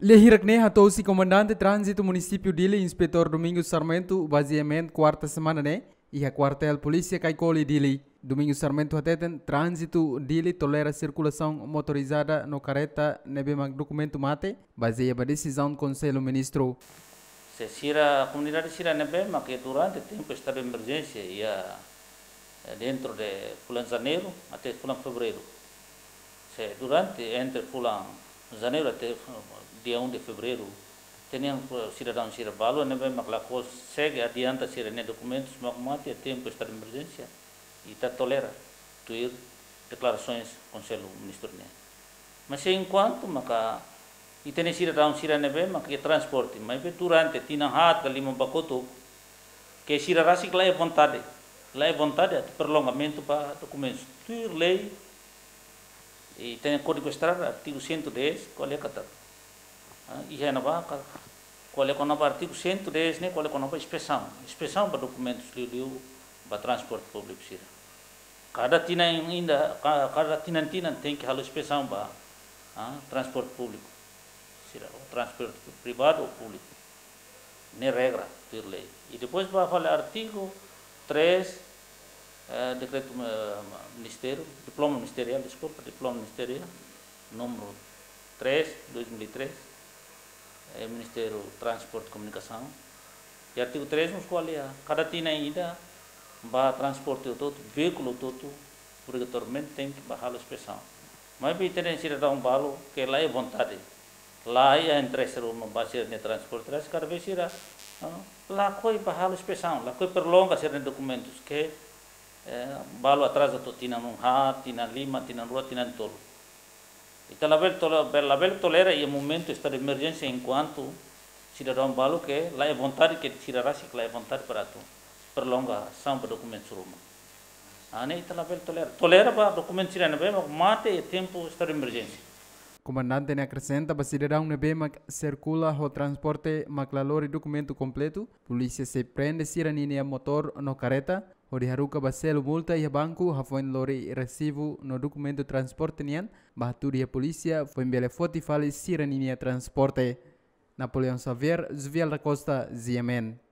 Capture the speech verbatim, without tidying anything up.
Lia hirak ne'e hato'o husi Komandante Tránzitu Munisípiu Dili, Inspetór Domingos Sarmento, ba GMN kuarta semana ne'e, iha Kuartél Polísia Caicoli, Dili. Domingos Sarmento hateten, tránzitu Dili tolera sirkulasaun motorizada no karreta ne'ebé mak dokumentu mate, bazeia ba desizaun Konsellu Ministru. Se sira, komunidade sira ne'ebé mak durante tempu estadu de emerjénsia iha, eh, dentro de fulan Janeiru até fulan Fevereiru. Se durante, entre fulan Janeiru até dia um de Fevereiru, tenke sidadaun sira balu ne'ebé mak la konsege adianta sira-nia dokumentus mak mate iha tempu estadu de emerjénsia, ita tolera tuir deklarasoens Konsellu Ministru nian. Mas enkuantu maka ita-nia sidadaun sira ne'ebé maka iha transporte, maibé durante tinan haat ka lima ba kotuk, ke sira rasik la iha vontade, la iha vontade atu prolongamentu ba dokumentus tuir lei, ita-nia Kódigu Estrada, artigu cento e dez, ko'alia katak, ah, iha ne'ebá ka, ko'alia kona-ba artigu cento e dez ne'e, ko'alia kona-ba inspesaun. Inspesaun ba dokumentus liuliu ba transporte públiku sira. Kada tinan ida, ka-, kada tinan-tinan tenke halo inspesaun ba, ah, transporte públiku sira, ou transporte privadu ou públiku. Ne'e regra tuir lei. I depois ba fali artigu três, eh, dekretu, eh, ministériu, diploma ministeriál, deskulpa, diploma ministeriál númeru três, dois mil e três, eh, Ministériu Transporte e Komunikasaun. I artigu três mós ko'alia, kada tinan ida ba transporte hotu-hotu, veíkulu hotu-hotu, obrigatoriamente tenke ba halo inspesaun. Maibé ita-nia sidadaun balu ke la iha vontade, la iha interese ruma ba sira-nia transporte, rasik kada vez sira, ah, lakohi ba halo inspesaun, lakohi prolonga sira-nia dokumentus ke, eh, balu atraza to'o tinan haat, tinan lima, tinan rua, tinan tolu. Ita labele tole-, labele tolera iha momentu estadu de emerjénsia enkuantu sidadaun balu ke la iha vontade, ke sira rasik la iha vontade para atu prolongasaun ba dokumentus ruma. Ah, ne'e ita labele tolera. Tolera ba dokumentu sira ne'ebé mak mate iha tempu estadu de emerjénsia. Komandante ne'e akresenta ba sidadaun ne'ebé mak sirkula ho transporte mak la lori dokumentu kompletu, polísia sei prende sira ninia motór no karreta, hodi haruka ba selu multa iha banku, hafoin lori resibu no dokumentu transporte nian, ba hatudu iha polísia, foin bele foti fali sira ninia transporte. Napoleão Xavier, Jovial da Costa, GMN.